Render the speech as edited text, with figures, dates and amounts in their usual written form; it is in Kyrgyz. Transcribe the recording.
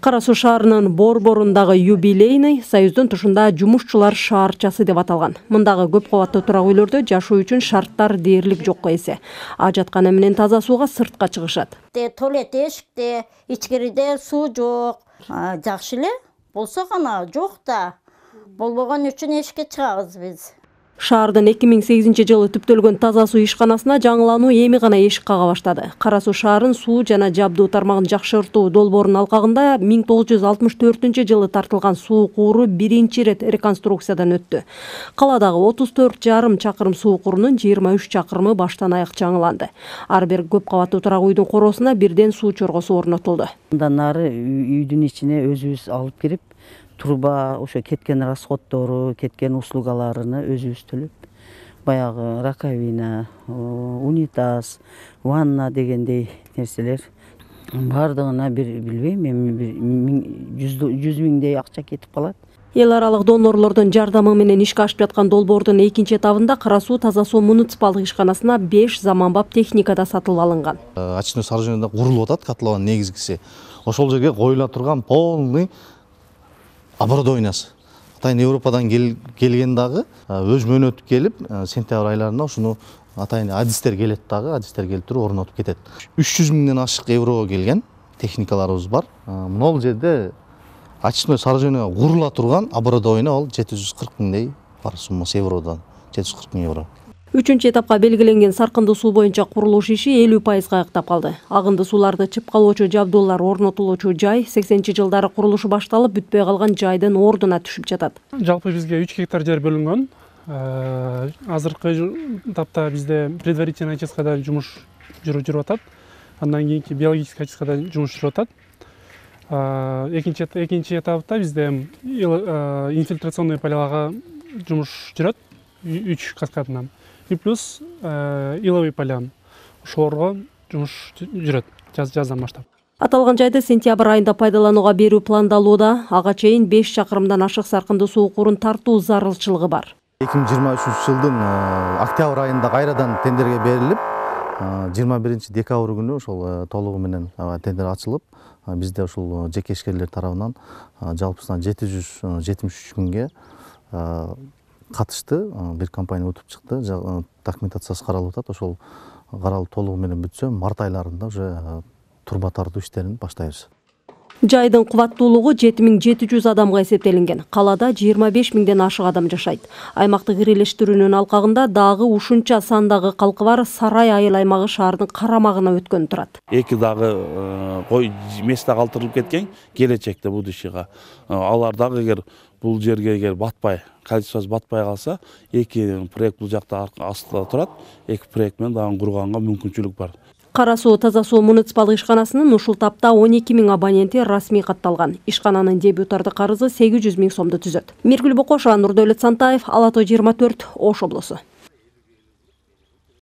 Кара Суу шаарынын борборундагы юбилейный Союздун тушунда жумушчулар шаарчасы деп аталган. Мындагы көп кабаттуу турак үйлөрдө жашоо үчүн шарттар дээрлик жокко эсе. Ажаткана менен таза сууга сыртка чыгышат. Туалет эшикте, ичкириде суу жок. Жакшы эле болсо гана жок да. Болбогон үчүн эшикке чыгабыз биз. Шаардын 2008-жылы түптөлгөн таза суу ишканасына жаңылануу эми гана эшик кага баштады. Кара Суу шаарын суу жана жабдуу тармагын жакшыртуу долбоорунун алкагында 1964-жылы тартылган суу кууру биринчи ирет реконструкциядан өттү. Каладагы 34,5 чакырым суу куурунун 23 чакырымы баштан аяк жаңыланды. Ар бир көп кабаттуу турак үйдүн короосуна бирден суу чоргосу орнотулду. Андан нары үйдүн ичине өзүбүз алып кирип, труба, ошо кеткен расходтору, кеткен услугаларыны өзүбүз төлөп, баягы раковина, унитаз, ванна дегендей нерселер бардыгына билбейм, эми 100 миңдей акча кетип калат. Эл аралык донорлордун жардамы менен ишке ашып жаткан долбоордун экинчи этабында Кара Суу таза суу муниципалдык ишканасына 5 заманбап техника да сатылып алынган. Очной сооружениеде курулуп атат котлован негизгиси. Ошол жерге коюла турган полный оборудованиясы. Атайын Европадан келген дагы өз мөөнөтү келип, сентябрь айларында ушуну атайын адистер келет дагы, адистер келип туруп орнотуп кетет. 300 миңден ашык еврого келген техникаларыбыз бар. Мына жерде очной сооружениеге курула турган оборудование ол 740 миңдей бар суммасы евродан, 740 миң евро. Үчүнчү этапка белгиленген саркынды суу боюнча курулуш иши 50% аяктап калды. Агынды сууларды чыпкалоочу жабдуулар орнотулуучу жай 80-жылдары курулушу башталып, бүтпөй калган жайдын ордуна түшүп жатат. Жалпы бизге 3 гектар жер бөлүнгөн. Азыркы этапта бизде предварительный очисткада жумуш жүрүп атат. Андан кийинки биологический очисткада жумуш жүрүп атат. Экинчи этапта бизде инфильтрационный полягага жумуш жүрөт 3 каскадынан. И плюс иловый полян. Ошолорго жумуш жүрөт жаздан баштап. Аталган жайды сентябрь айында пайдаланууга берүү пландалууда. Ага чейин 5 чакырымдан ашык саркынды суу куурун тартуу зарылчылыгы бар. 2023-жылдын октябрь айында кайрадан тендерге берилип, 21-декабрь күнү ошол толугу менен тендер ачылып, бизде ошол жеке ишкерлер тарабынан жалпысынан 773 күнгө катышты. Бир компания утуп чыкты. Документациясы каралып атат. Ошол каралып толугу менен бүтсө, март айларында уже труба тартуу иштерин баштайбыз. Жайдын кубаттуулугу 7700 адамга эсептелинген. Калада 25 миңден ашык адам жашайт. Аймактык ирелештирүүнүн алкагында дагы ушунча сандагы калкы бар Сарай айыл аймагы шаардын карамагына өткөн турат. Эки дагы кой место калтырылып кеткен келечекте будущийга. Алар дагы эгер бул жерге эгер батпай, количествосы батпай калса, эки проект бул жакта астында турат. Эки проект менен дагы курганга мүмкүнчүлүк бар. Кара Суу таза суу муниципалдык ишканасынын ушул тапта 12 миң абоненти расмий катталган. Ишкананын дебютардык карызы 800 миң сомду түзөт. Миргүл Бокошова, Нурдөлөт Сантаев, Ала Тоо 24, Ош облусу.